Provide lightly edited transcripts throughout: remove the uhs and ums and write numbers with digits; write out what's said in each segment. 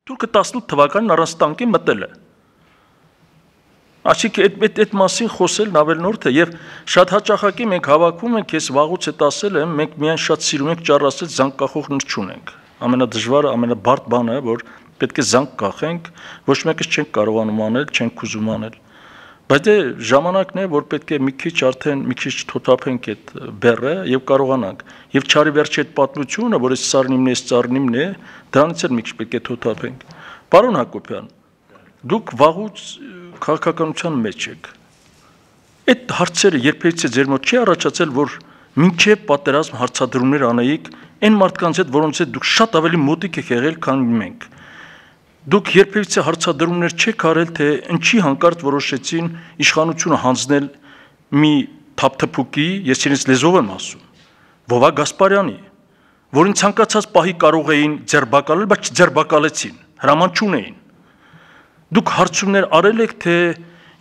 Թուրքը 18 թվականին առանց տանկի մտել է։ Այսինքն այդ մասին խոսելն ավելնորդ է եւ շատ հաճախակի մենք հավաքում ենք, ես վաղուց այդ ասել եմ, մենք միայն շատ սիրում ենք ճառասել զանգ կախող նր չունենք։ Ամենադժվարը, ամենաբարդ բանը, որ պետք է զանգ կախենք, ոչ մեկս չենք կարողանում անել, չենք ուզում անել։ Բայց դե ժամանակն է, որ պետք է մի քիչ թոթափենք այդ բեռը եւ կարողանանք։ Եվ չարի վերջի այդ պատմությունը, որ այս ծառնիմն է, դրանից էլ մի քիչ պետք է թոթափենք։ Պարոն Հակոբյան, դուք վաղուց քաղաքականության մեջ եք։ Այդ հարցերը երբևիցե ձեր մոտ չի առաջացել, որ մինչև պատերազմ հարցադրումներ անեիք այն մարդկանց հետ, որոնց հետ դուք շատ ավելի մոտիկ եք եղել, քան մենք։ Դուք երբևիցե հարցադրումներ չեք արել, թե ինչի հանկարծ որոշեցին իշխանությունը հանձնել մի թափթփուկի, ես իրենց լեզվով եմ ասում, Վովա Գասպարյանի, որին ցանկացած պահի կարող էին ձերբակալել, բայց չձերբակալեցին, հրաման չունեին։ Դուք հարցումներ արել եք, թե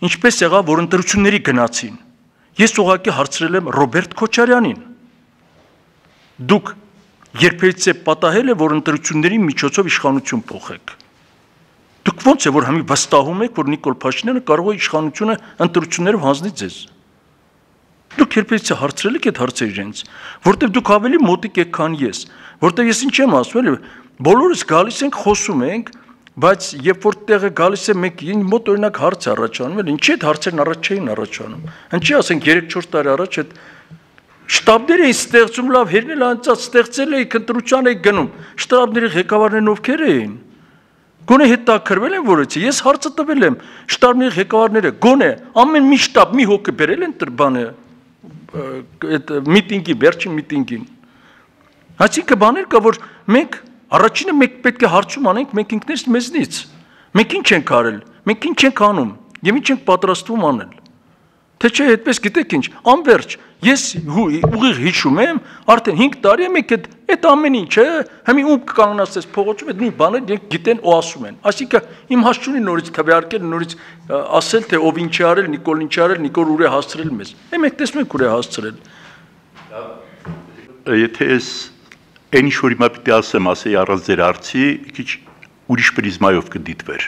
ինչպես եղավ, որ ընտրությունների գնացին։ Ես ուղղակի հարցրել եմ Ռոբերտ Քոչարյանին։ Դուք երբևիցե պատահել է, որ ընտրությունների միջոցով իշխանություն փոխեք։ Դուք ո՞նց է, որ համի վստահում եք, որ Նիկոլ Փաշինյանը կարող է իշխանությունը ընտրություններով հանձնել ձեզ։ Դուք երբևիցե հարցրել եք այդ հարցերը իրենց, որտեղ դուք ավելի մոտիկ եք, քան ես, որտեղ ես ինչ եմ ասում, բոլորս գալիս ենք, խոսում ենք, բայց երբ որ տեղը գալիս է մեկին մոտ օրինակ հարց առաջանում, ինչի այդ հարցերն առաջ չէին առաջանում։ Ինչի ասենք 3-4 տարի առաջ այդ շտաբները ստեղծում լավ հերնել անցած ստեղծել էի ընտրության էի գնում։ Շտաբների ղեկավարներն ովքեր էին։ Գոնե հետաքրվել են որից ես հարցը տվել եմ շտաբների ղեկավարները գոնե ամեն մի շտաբ մի հոգի բերել են բանը այդ միտինգի վերջին միտինգին։ Այսինքն բաներ կա որ մենք առաջինը մենք պետք է հարցում անենք մենք ինքներս մեզնից։ Մենք ինչ ենք արել, մենք ինչ ենք անում եւ ինչ ենք պատրաստվում անել։ Թե չէ այդպես գիտեք ինչ, անverջ ես ուղիղ հիշում եմ, արդեն 5 տարի է մենք այդ ամեն ինչը, հիմի ում կանգնացես փողոցում այդ նույն բանը դրանք գիտեն ու ասում են։ Այսինքն իմ հասցունի նորից թվարկել, նորից ասել թե ով ինչ է արել, Նիկոլ ինչ է արել, Նիկոլ ուր է հասցրել մեզ։ Մենք տեսնում ենք ուր է հասցրել։ Եթե ես այն ինչ որ հիմա պիտի ասեմ, ասեի առանց ձեր արծի, քիչ ուրիշ պրիզմայով կդիտվեր։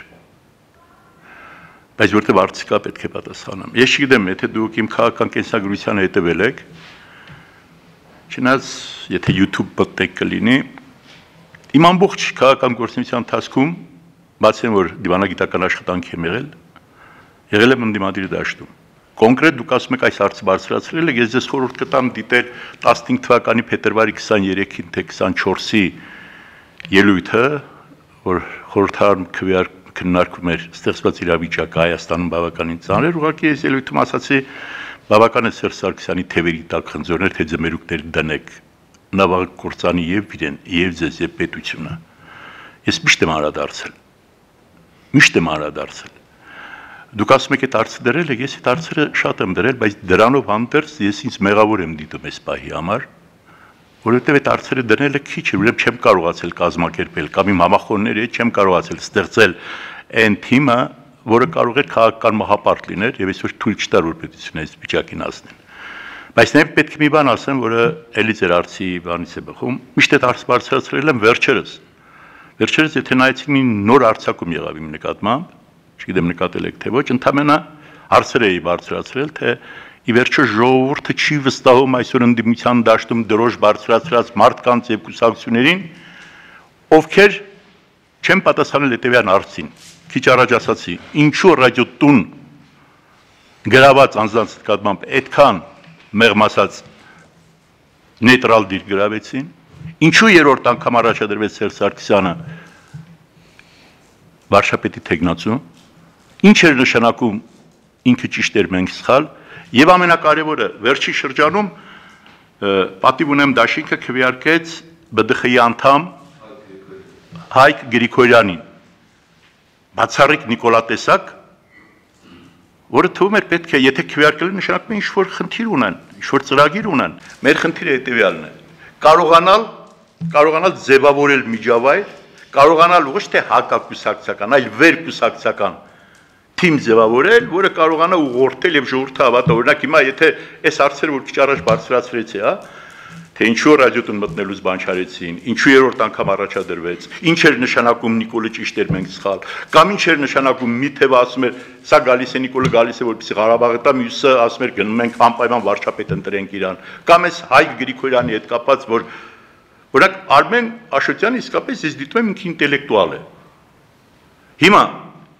Բայց որտեղ արծիկա պետք է պատասխանեմ։ Ես չգիտեմ, եթե դուք իմ քաղաքական կենսագրությանը հետևել եք, չնայած եթե YouTube բտնեք կլինի, իմ ամբողջ քաղաքական գործունեության ընթացքում, բացի որ դիվանագիտական աշխատանք եմ եղել եմ ընդդիմադիր դաշտում։ Կոնկրետ դուք ասում եք այս հարցը բարձրացրել եք, ես ձեզ խորհուրդ կտամ դիտել 15 թվականի փետրվարի 23-ին թե 24-ի ելույթը, որ խորհրդարան քննարկում էր ստեղծված իրավիճակը Հայաստանում բավականին ծանր, ուղղակի ես ելույթում ասացի բավական է Սերժ Սարգսյանի թևերի տակ խնձորներ թե ձմերուկներ դնեք, նավակ կործանի եւ իրեն, եւ ձեզ եւ պետությունը։ Ես միշտ եմ անդրադարձել։ Դուք ասում եք այդ հարցը դրել եք, ես այդ հարցերը շատ եմ դրել, բայց դրանով հանդերձ ես ինձ մեղավոր եմ դիտում այս պահի համար, որովհետև այդ հարցերը դնելը քիչ է, ուրեմն չեմ կարողացել կազմակերպել կամ իմ համախոհների հետ չեմ կարողացել ստեղծել այն թիմը, որը կարող էր քաղաքական մահապարտ լիներ եւ այսօր թույլ չտար որ պետությունը այս վիճակին հասնեն։ Բայց նաեւ պետք է մի բան ասեմ, որը էլի ձեր արծի բանից է բխում, միշտ այդ հարցը բարձրացրել եմ վերջերս, եթե նայեցիք մի նոր արձակում եղավ իմ նկատմամբ, չգիտեմ նկատել եք թե ոչ, ընդամենը հարցեր էի բարձրացրել, թե ի վերջո ժողովուրդը չի վստահում այսօր ընդդիմության դաշտում դրոշ բարձրացրած մարդկանց եւ կուսակցություններին, ովքեր չեն պատասխանել հետեւյալ հարցին։ Քիչ առաջ ասացի, ինչու ռադիոտուն գրաված անձանց նկատմամբ այդքան մեղմ ասած նեյտրալ դիր գրավեցին, ինչու երրորդ անգամ առաջադրվեց Սերժ Սարգսյանը վարշապետի թեկնածու, ինչ էր նշանակում ինքը ճիշտ էր մենք սխալ, եւ ամենակարևորը վերջի շրջանում պատիվ ունեմ դաշինքը քվեարկեց ԲԴԽ-ի անդամ Հայկ Գրիգորյանին, բացառիկ նիկոլատեսակ, որը թվում էր պետք է, եթե քվեարկել են նշանակում է ինչ-որ խնդիր ունեն, ինչ-որ ծրագիր ունեն, մեր խնդիրը հետևյալն է, կարողանալ ձևավորել միջավայր, կարողանալ ոչ թե հակակուսակցական, այլ վերկուսակցական թիմ ձևավորել, որը կարողանա ուղղորդել եւ ժողովուրդը հավատա։ Օրինակ հիմա եթե այս հարցերը որ քիչ առաջ բարձրացրեցի, թե ինչու ռադիոտուն մտնելուց բան չարեցին, ինչու երրորդ անգամ առաջադրվեց, ինչ էր նշանակում Նիկոլը ճիշտ էր մենք սխալ, կամ ինչ էր նշանակում մի թևը ասում էր սա գալիս է Նիկոլը գալիս է որպեսզի Ղարաբաղը տա, մյուսը ասում էր գնում ենք անպայման վարչապետ ընտրենք իրան, կամ այս Հայկ Գրիգորյանի հետ կապված, որ օրինակ Արմեն Աշոտյանը իսկապես ես դիտում եմ ինքը ինտելեկտուալ է։ Հիմա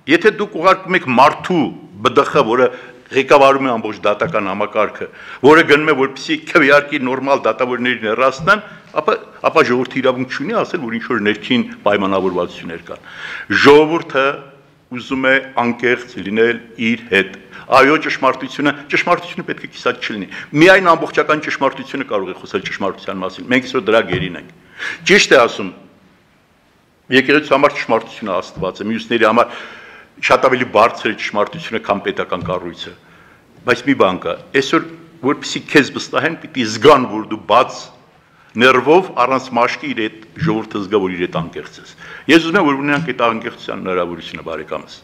եթե դուք ուղարկում եք մարդու ԲԴԽ, որը ղեկավարում է ամբողջ դատական համակարգը, որը գնում է որպեսզի քվեարկի նորմալ դատավորներին հեռացնեն, ապա ժողովուրդը իրավունք չունի ասել, որ ինչ-որ ներքին պայմանավորվածություններ կան։ Ժողովուրդը ուզում է անկեղծ լինել իր հետ։ Այո, ճշմարտությունը պետք է կիսատ չլինի։ Միայն ամբողջական ճշմարտությունը կարող է խոսել ճշմարտության մասին։ Մենք այսօր դրա գերին ենք։ Ճիշտ է ասում, եկեղեցու համար ճշմարտությունը Աստված է, մյուսների համար շատ ավելի բարձր է ճշմարտությունը, քան պետական կառույցը, բայց մի բան կա, այսօր որպեսզի քեզ վստահեն, պիտի զգան, որ դու բաց ներվով առանց մաշկի իր այդ ժողովուրդը զգա, որ իր այդ անկեղծ ես։ Ես ուզում եմ, որ ունենանք այդ անկեղծության հնարավորությունը, բարեկամս։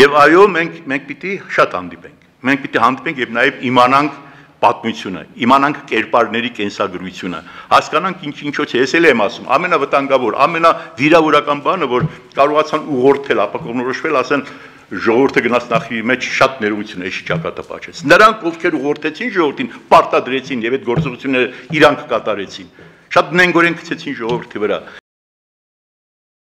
Եվ այո, մենք պիտի շատ հանդիպենք։ Մենք պիտի հանդիպենք եւ նաեւ իմանանք պատմությունը, իմանանք կերպարների կենսագրությունը, հասկանանք ինչոց է, ես էլ եմ ասում, ամենավտանգավոր, ամենավիրավորական բանը, որ կարողացան ուղղորդել, ապա կողմնորոշվել, ասեն ժողովուրդը գնաց նախի մեջ շատ ներողություն էշի ճակատը պաչեց։ Նրանք, ովքեր ուղղորդեցին ժողովրդին, պարտադրեցին եւ այդ գործողությունները իրանք կատարեցին, շատ նենգորեն գցեցին ժողովրդի վրա։